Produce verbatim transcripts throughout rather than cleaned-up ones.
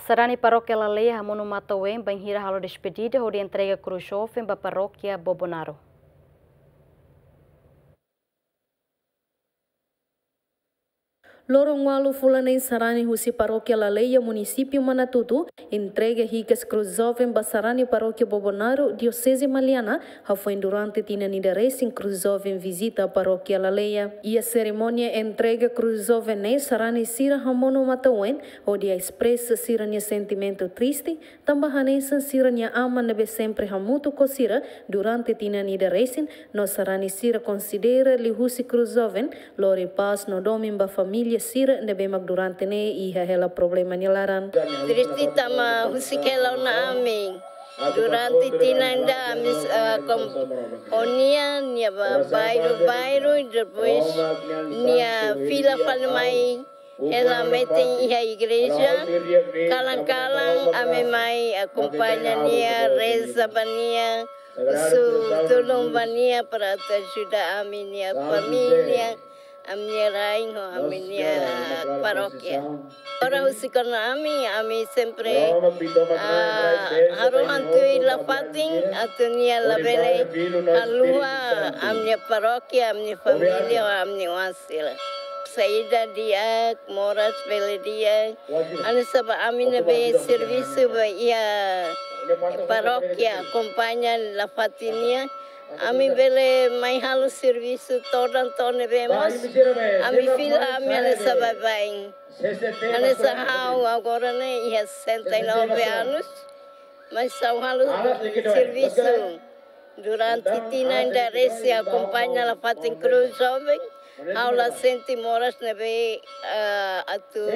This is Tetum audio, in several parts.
Sarani Parókia Laleia hamonu matan-ween bainhira halo despedida hodi entrega krús joven ba Parókia Bobonaro. Loron ualu fulan neen, sarani husi Parókia Laleia, Munisípiu Manatutu, entrega hikas krús joven ba sarani Parókia Bobonaro, Dioseze Maliana, hafoin durante tinan ida resin krús joven vizita Parókia Laleia. Iha serimónia entrega krús joven ne'e, sarani sira hamonu matan-ween hodi espresa sira-nia sentimentu triste, tanba hanesan sira-nia aman ne'ebé sempre hamutuk ho sira durante tinan ida resin, no sarani sira konsidera liuhusi krús joven lori pás no domin ba família sira ne'ebé mak durante ne'e iha hela problema nia laran. Triste tanba husik hela ona ami. Durante tinan ida ami, eh, kom-, ho nia, nia bá bairru-bairru, depois nia fila fali mai hela metin iha igreja. Kalan-kalan ami mai akompaña nia, reza ba nia, husu tulun ba nia para atu ajuda ami-nia família, ami-nia rain ho ami-nia parókia. Agora husik ona ami, ami sempre, ah, harohan tuir la fatin, atu nia labele haluha ami-nia parókia, ami-nia família, ami-nia oan sira. Saida di'ak, moras bele di'ak. Hanesan ba ami ne'ebé servisu ba iha parókia, akompaña la fatin nian. Ami bele mai halo servisu todan to'o ne'ebé mós. Ami fila ami hanesan baibain. Hanesan ha'u agora ne'e iha sessenta e nove anos. Mas ha'u halo servisu durante tinan ida resin akompaña la fatin krús joven. Ha'u la sente moras ne'ebé, ah, atu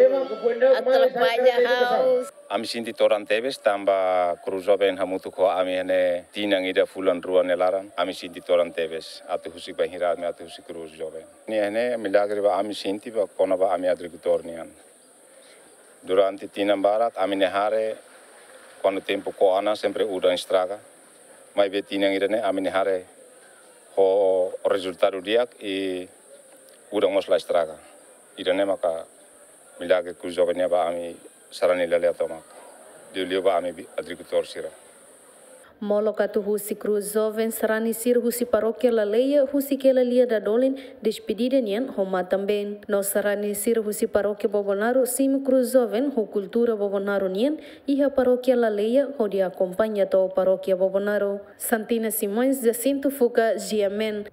atrapalla ha'u. Ami sente todan tebes tanba krús joven hamutuk ho ami iha ne'e tinan ida fulan rua nia laran. Ami sente todan tebes atu husik bainhira ami atu husik krús joven. Ne'e, ne'e milagre ba ami sente ba kona-ba ami agrikultór nian. Durante tinan barak ami-nia hare, kuandu tempu ko'a ona sempre udan estraga. Maibé tinan ida-ne'e ami-nia hare ho rezultadu di'ak i udan mós la estraga. Ida-ne'e maka milagre krús joven nian ba ami sarani Laleia tomak. Liuliu ba ami bi-, agrikultór sira. Molok atu husik krús joven, sarani sira husi Parókia Laleia husik hela lia dadolin despedida nian ho matan-been. No sarani sira husi Parókia Bobonaro simu krús joven ho kultura Bobonaro nian iha Parókia Laleia hodi akompaña to'o Parókia Bobonaro. Santina Simões, Jacinto Fuca, G M N.